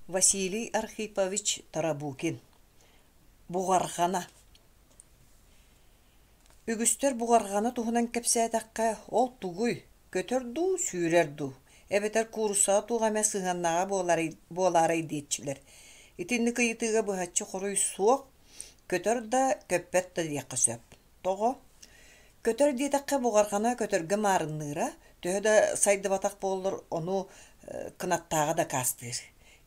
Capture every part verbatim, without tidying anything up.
Василий Архипович Тарабукин Буҕарҕана Үгүстэр буҕарҕана туһунан кэпсээтэххэ, ол тугуй, көтөр дуу, сүүрэр дуу, эбэтэр кууруссаҕа туох эмэ сыһыаннааҕа буоларай, буолаарай диэччилэр. Итинник ыйытыыга быһаччы хоруй суох, көтөр да, көппөт да диэххэ сөп. Тоҕо? Көтөр диэтэххэ буҕарҕана көтөргө маарынныыра, төһө да сайдыбатах буоллар, ону кынаттааҕа дакаастыыр.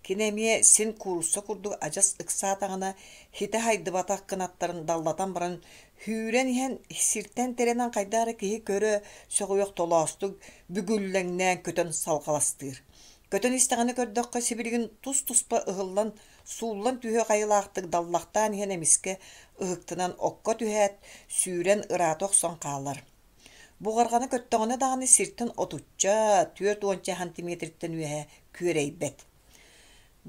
Кини эмиэ син куурусса курдук адьас ыксаатаҕына, хитэ хайдыбатах кынаттарын даллатан баран сүүрэн иһэн сиртэн тирэнэн хайдах эрэ киһи көрө сөҕүөх толоостук бүгүллэҥнээн көтөн салҕаластыыр. Көтөн истэҕинэ көрдөххө сибилигин тус-туспа ыһыллан, сууллан түһүөх айылаахтык даллахтаан иһэн эмискэ ыһыктынан окко түһээт, сүүрэн ыраата охсон хаалар. Буҕарҕана көттөҕүнэ даҕаны сиртэн отучча, түөрт уонча сантиметртэн үөһэ күөрэйбэт.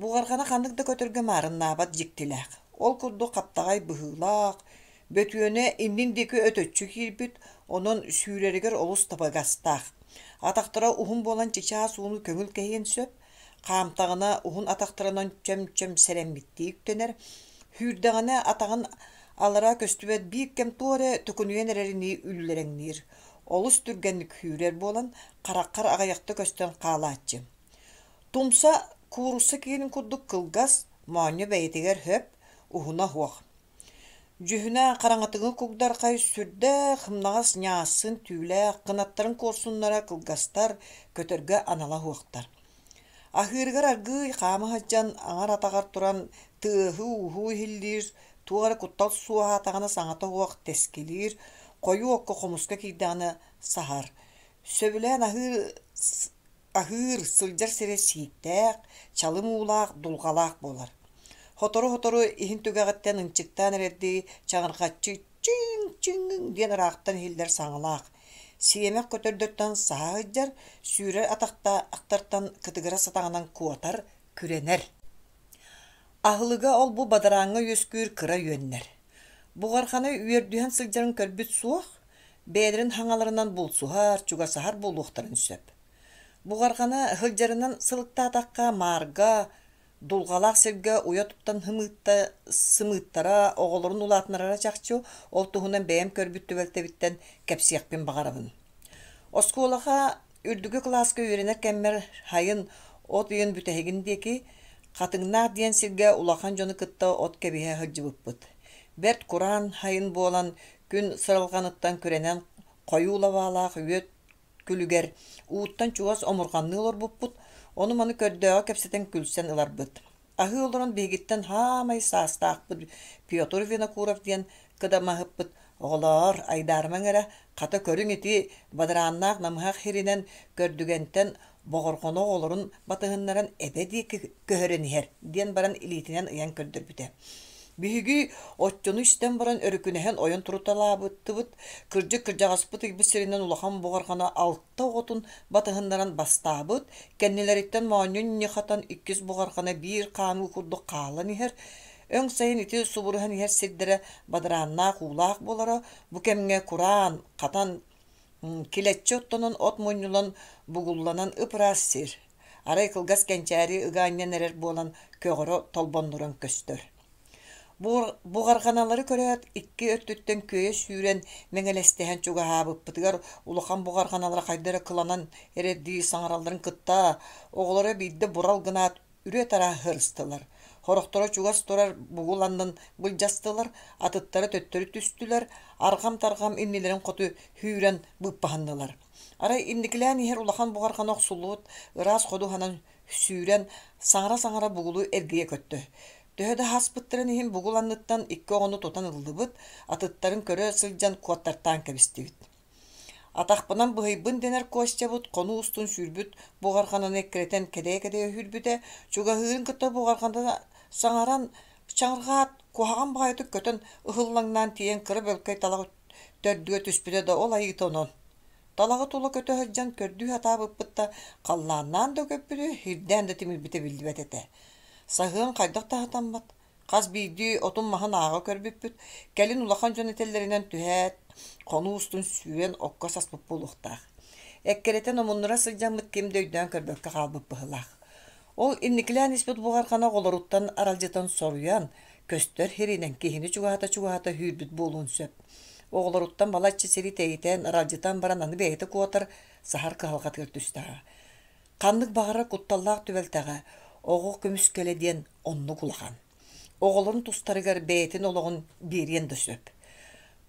Буҕарҕана ханнык да көтөргө маарыннаабат дьиктилээх. Ол курдук хаптаҕай быһыылаах, бөтүөнэ иннин диэки өтөччү киирбит, онон сүүрэригэр олус табыгастаах. Атахтара уһун буолан чычаас ууну көҥүл кэһиэн сөп, хаамтаҕына уһун атахтарынан чөм-чөм сэрэммиттии үктэнэр, сүүрдэҕинэ атаҕын аллара көстүбэт биир кэм туох эрэ төкүнүйэн эрэринии үллэрэҥниир. Олус түргэнник сүүрэр буолан, хараххар аҕыйахта көстөн хаалааччы. Тумса куурусса киэнин курдук кылгас, моонньо бэйэтигэр хөп, уһуна суох. Дьүһүнэ хараҥатыҥы кугдархай, сүрдээх сымнаҕас ньаассын түүлээх, кынаттарын куорсуннара кылгастар, көтөргө анала суохтар. Аһыырыгар аргыый хаама сылдьан, аҥар атаҕар туран тыаһы-ууһу иһиллиир, туох эрэ куттал суоһаатаҕына саҥата суох тэскилиир, хойуу окко хомуска киирдэҕинэ саһар. Сөбүлээн аһыыр аһыыр, сылдьар сирэ сииктээх, чалым уулаах, дулҕалаах буолар. Сотору-сотору иһин түгэҕиттэн ынчыктаан эрэрдии чаҕырҕаччы чиҥ-чиҥ диэн ыраахтан иһиллэр саҥалаах. Сиэмэх көтөрдөртөн саһа сылдьар, сүүрэр атахтартан кытыгырас атаҕынан куотар, күрэнэр. Аһылыга ол-бу бадарааҥҥа үөскүүр кыра үөннэр. Буҕарханы үөрдүһэн сылдьарын көрбүт суох, бэйэлэрин хаҥаларынан булсуһар, чугасаһар буолуохтарын сөп. Буҕарҕана сылдьарынан сылыктаатахха маарга, дулҕалаах сиргэ уйа туттан сымыытта, сымыыттара оҕолорун улаатыннарара чахчы, ол туһунан бэйэм көрбүт түбэлтэбиттэн кэпсиэхпин баҕарабын. Оскуолаҕа үрдүкү кылааска үөрэнэр кэммэр сайын от ыйын бүтэһигин диэки Хатыҥнаах диэн сиргэ улахан дьону кытта от кэбиһэ сылдьыбыппыт. Бэрт кураан сайын буолан, күн сыралҕаныттан күрэнэн хойуу лабаалаах үөт күлүгэр ууттан чугас омурҕанныы олорбуппут, ону-маны көрдөөҕү кэпсэтэн күлсэн ыларбыт. Аһыы олорон биһигиттэн хаамай саастаахпыт Петр Винокуров диэн кыдамаһыппыт «Оҕолоор, айдаарымаҥ эрэ, хата көрүҥ ити бадарааннаах намыһах сиринэн Көрдүгэнтэн боҕорҕоно оҕолорун батыһыннаран эбэ диэки көһөрөн иһэр» диэн баран илиитинэн ыйан көрдөрбүтэ. Биһиги оччону истэн баран өрүкүнэһэн ойон туруталаабыттыбыт, кырдьык кырдьаҕаспыт ыйбыт сиринэн улахан буҕарҕана алта оҕотун батыһыннаран бастаабыт, кэннилэриттэн моонньун ньыхатан иккис буҕарҕана биир хаамыы курдук хаалан иһэр, өҥ сайын ити субуруһан иһэр сирдэрэ бадарааннаах уулаах буолара, бу кэмҥэ кураан, хатан килэччи оттонон от мунньулан бугулланан ып-ыраас сир, арай кылгас кэнчээри ыга анньан эрэр буолан көҕөрө толбоннуран көстөр. Буҕарҕаналары көрөөт, икки өттүттэн күөйэ сүүрэн мэҥэлэстэһэн чугаһаабыппытыгар улахан буҕарҕаналара хайда эрэ кыланан эрэрдии саҥаралларын кытта, оҕолоро биирдэ бурал гынаат үрүө-тараа сырыстылар. Сорохторо чугас турар бугул аннын былдьастылар, атыттара төттөрү түстүлэр, арҕам-тарҕам иннилэрин хоту сүүрэн быыппаһыннылар. Арай инникилээн иһэр улахан буҕарҕана охсуллубут ыраас ходуһанан сүүрэн, саҥара-саҥара бугулу эргийэ көттө. Төһө да ааспыттарын иһин бугул анныттан икки оҕону тутан ыллыбыт, атыттарын көрө сылдьан куоттартаан кэбистибит. Атахпынан быһыйбын дэнэр Костябыт хонуу устун сүүрбүт буҕарҕананы эккирэтэн кэдэйэ-кэдэйэ сүүрбүтэ, чугаһыырын кытта буҕарҕана саҥаран чаҥырҕаат, куһаҕан баҕайытык көтөн ыһыллаҥнаан тиийэн кыра бөлкөй талах төрдүгэр түспүтэ да ол айыыта онон. Талаҕы тула көтө сылдьан көрдүү сатаабыппыт да халлааннаан да көппүтэ, сирдээн да тимирбитэ биллибэт этэ. Саһыан хайдах да сатаммат, хас биирдии отун-маһын ааҕа көрбүппүт, кэлин улахан дьон этэллэринэн түһээт, хонуу устун сүүрэн окко саспыт буолуохтаах. Эккирэтэн омуннура сылдьаммыт ким да өйдөөн көрбөккө хаалбыт быһыылаах. Ол инникилээн испит буҕарҕана оҕолоруттан аралдьытан соруйан, көстөр сиринэн киһини чугаһата-чугаһата сүүрбүт буолуон сөп. Оҕолоруттан балачча сири тэйитэн, аралдьытан баран аны бэйэтэ куотар, саһар кыһалҕатыгар түстэҕэ. Ханнык баҕарар кутталлаах түбэлтэҕэ оҕо көмүскэлэ диэн оннук улахан. Оҕолорун тустарыгар бэйэтин олоҕун биэриэн да сөп.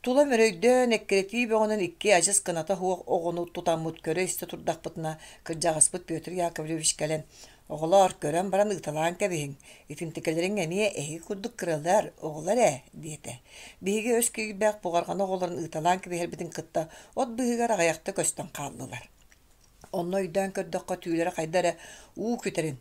Тула мөрөйдөөн, эккирэтии бөҕөнөн икки адьас кыната суох оҕону тутаммыт көрө-истэ турдахпытына, кырдьаҕаспыт Петр Яковлевич кэлэн, «Оҕолоор, көрөн баран ыыталаан кэбиһиҥ, итинтикэлэриҥ эмиэ эһиги курдук кыралар, оҕолор ээ» диэтэ. Биһиги өс киирбэх буҕарҕана оҕолорун ыыталаан кэбиһэрбитин кытта от быыһыгар аҕыйахта көстөн хааллылар. Онно өйдөөн көрдөххө түүлэрэ хайда эрэ уу күтэрин,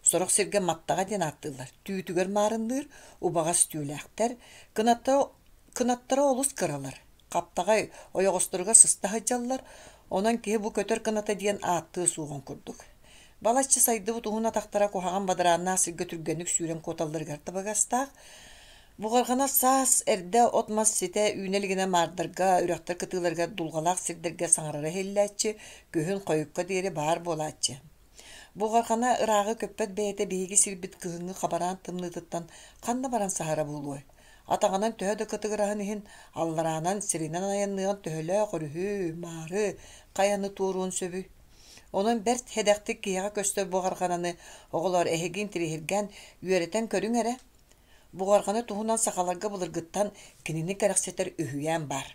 сорох сиргэ маттаҕа диэн ааттыыллар, түүтүгэр маарынныыр, убаҕас түүлээхтэр, кынаттара, кынаттара олус кыралар, хаптаҕай ойоҕосторугар сыста сылдьаллар, онон киһи бу көтөр кыната диэн ааттыа суоҕун курдук. Балачча сайдыбыт уһун атахтара куһаҕан бадарааннаах сиргэ түргэнник сүүрэн куоталларыгар табыгастаах. Буҕарҕана саас эрдэ от-мас ситэ үүнэ илигинэ маардарга, үрэхтэр кытыыларыгар дулҕалаах сирдэргэ саҥарара иһиллээччи, күһүн хойукка диэри баар буолааччы. Буҕарҕана ырааҕы көппөт бэйэтэ биһиги сирбит кыһыҥҥы хабараан тымныытыттан ханна баран саһара буолуой? Атаҕынан төһө да кытыгыраһын иһин, аллараанан сиринэн айанныан төһөлөөх өрүһү, маары, хайаны туоруон сөбүй? Онон бэрт сэдэхтик киһиэхэ көстөр буҕарҕананы оҕолор эһиги интэриэһиргээн үөрэтэн көрүҥ эрэ. Буҕарҕана туһунан сахаларга былыргыттан кинини кэрэхсэтэр үһүйээн баар.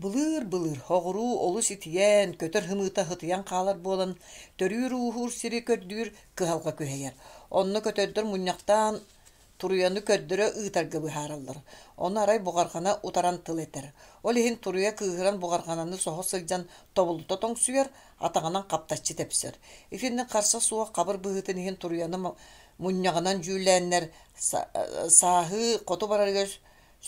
Былыыр-былыр оҕуруу олус итийэн, көтөр ымыыта сытыйан хаалар буолан, төрүүр-ууһуур сири көрдүүр кыһалҕа күһэйэр. Онно көтөрдөр мунньахтаан туруйаны көрдөрө ыытарга быһаараллар. Ону арай буҕарҕана утаран тыл этэр. Ол иһин туруйа кыыһыран буҕарҕананы соһо сылдьан тобулута тоҥсуйар, атаҕынан хаптаччы тэпсэр. Итинник харса суох хабыр быһыытын иһин туруйаны мунньаҕынан дьүүллээннэр сааһыы хоту барарыгар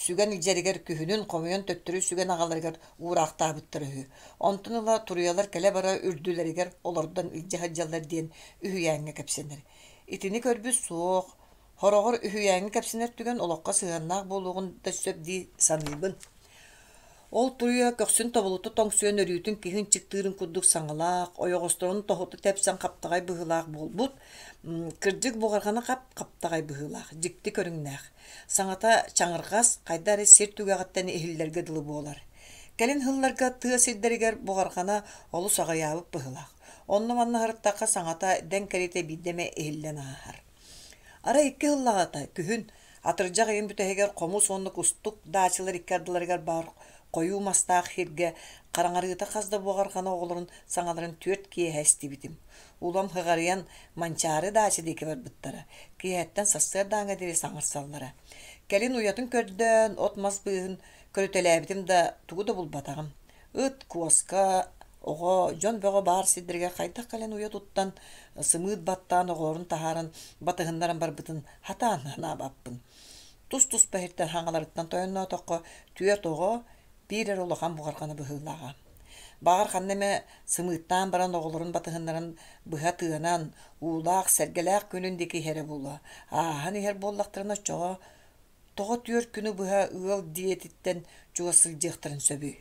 сүгэн илдьэригэр күһүнүн хомуйан төттөрү сүгэн аҕаларыгар уураахтаабыттар үһү. Онтон ыла туруйалар кэлэ-бара үрдүлэригэр олордон илдьэ сылдьаллар диэн үһүйээҥҥэ кэпсэнэр. Итини көрбүт суох, хороҕор үһүйээҥҥэ кэпсэнэр түгэн олоххо сыһыаннаах буолуоҕун да сөп дии саныыбын. Ол туруйа көхсүн тобулута тоҥсуйан өрүүтүн киһи ынчыктыырын курдук саҥалаах, ойоҕосторун тоһута тэпсэн хаптаҕай быһыылаах буолбут. Кырдьык буҕарҕана хап-хаптаҕай быһыылаах, дьикти көрүҥнээх. Саҥата чаҥырҕас, хайда эрэ сир түгэҕиттэн иһиллэргэ дылы буолар. Кэлин сылларга тыа сирдэригэр буҕарҕана олус аҕыйаабыт быһыылаах. Онно-манна сырыттахха саҥата дэҥ кэриэтэ биирдэ эмэ иһиллэн ааһар. Арай икки сыллааҕыта күһүн атырдьах ыйын бүтэһигэр хомус уонна кустук даачалар икки ардыларыгар баар хойуу мастаах сиргэ хараҥарыыта хас да буҕарҕана оҕолорун саҥаларын түөрт киэһэ истибитим. Улам ыҕарыйан Манчаары даача диэки барбыттара, киэһэттэн сарсыардааҥҥа диэри саҥарсаллара. Кэлин уйатын көрдөөн, от-мас быыһын көрүтэлээбитим да, тугу да булбатаҕым. Ыт, куоска, оҕо, дьон бөҕө баар сирдэригэр хайдах кэлэн уйа туттан, сымыыт баттаан оҕолорун таһааран батыһыннаран барбытын хатаан санаабаппын. Тус-туспа иһиттэн хаҥаларыттан тойонноотоххо түөрт оҕо, биир эрэ улахан буҕарҕана быһыылааҕа. Баҕар ханна эмэ сымыыттаан баран оҕолорун батыһыннаран быһа тыанан, уулаах, сэргэлээх күнүн диэки иһэрэ буолуо. Ааһан иһэр буоллахтарына оччоҕо тоҕо түөрт күнү быһа ыал дьиэтиттэн чугас сылдьыахтарын сөбүй?